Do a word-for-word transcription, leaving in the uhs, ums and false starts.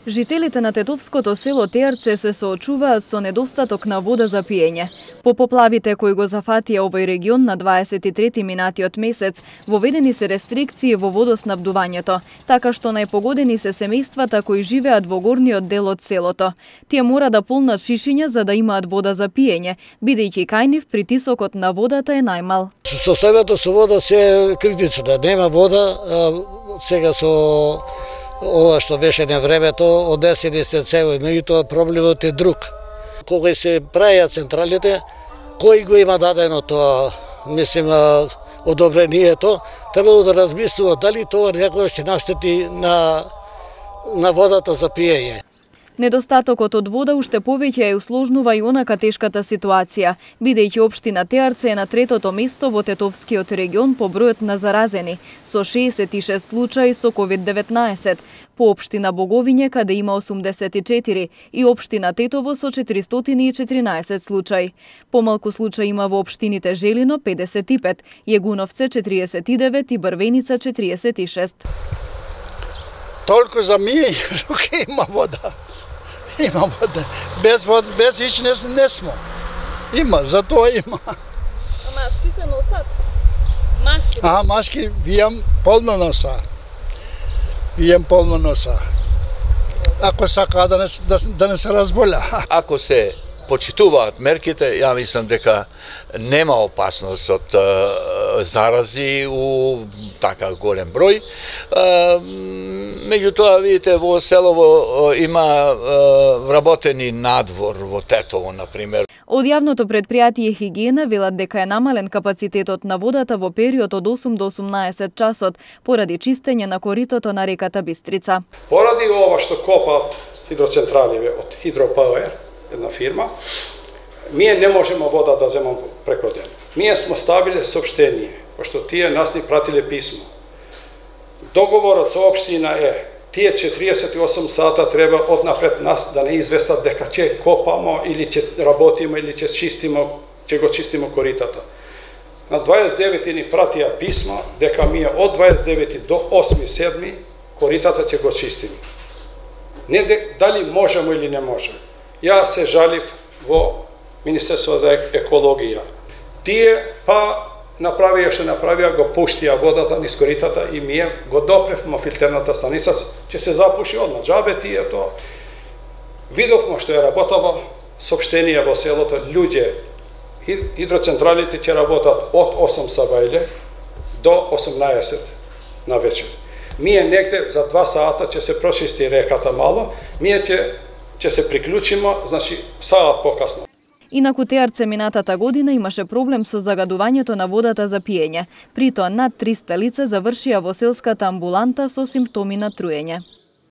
Жителите на тетовското село Теарце се соочуваат со недостаток на вода за пиење. По поплавите кои го зафатија овој регион на дваесет и трети минатиот месец, воведени се рестрикции во водоснабдувањето, така што најпогодени се семејствата кои живеат во горниот дел од селото. Тие мора да полнат шишиња за да имаат вода за пиење, бидејќи кај нив притисокот на водата е најмал. Состојбата со вода се е критично, нема вода, сега со ова што беше на времето, однесени се цево, меѓутоа проблемот е друг. Кога се правеа централите, кој го има дадено тоа, мислим, одобрението, требало да размислува дали тоа некој ќе наштети на, на водата за пиење. Недостатокот од вода уште повеќе ја усложнува и онака тешката ситуација, бидејќи општина Теарце е на третото место во Тетовскиот регион по бројот на заразени, со шеесет и шест случаи со ковид деветнаесет, по општина Боговиње каде има осумдесет и четири и општина Тетово со четиристотини и четиринаесет случаи. Помалку случаи има во општините Желино педесет и пет, Јегуновце четириесет и девет и Брвеница четириесет и шест. Толку за мие има вода. Има вода. Без вода, без ич не, не смо. Има, затоа има. А маски се носат? Маски? А, маски вијам полно носа. Вијам полно носа. Ако сака да не, да, да не се разболя. Ако се почитуваат мерките, ја мислам дека нема опасност од зарази у така голем број. Меѓутоа, видите, во селово има вработени надвор во Тетово, например. Од јавното предпријатие Хигиена велат дека е намален капацитетот на водата во период од осум до осумнаесет часот поради чистење на коритото на реката Бистрица. Поради ова што копаат хидроцентрали од Хидропауер, една фирма, ние не можеме вода да земам преко ден. Ние смо ставиле соопштение, пошто тие нас ни пратиле писмо. Договорот со општина е, тие четириесет и осум сата треба однапред нас да не известат дека ќе копамо или ќе работиме или ќе чистиме, ќе го чистиме коритата. На дваесет и девети ни пратија писмо дека ние од дваесет и девети до осми седми коритата ќе го чистиме. Не дали можеме или не можеме. Ја се жалив во Министерство за екологија. Тие па направија што направија, го пуштија водата низ коритата и ние го допревме филтерната станица, ќе се запуши одма. Џабе тие тоа. Видовме што е работава соопштение во селото, луѓе, хидроцентралите ќе работат од осум сабајле до осумнаесет на вечер. Ние негде за два сата ќе се прочисти реката мало, ние ќе ќе се приклучиме, значи саат покасно. Инаку Теарце минатата година имаше проблем со загадувањето на водата за пиење. Притоа над триста лица завршија во селската амбуланта со симптоми на труење.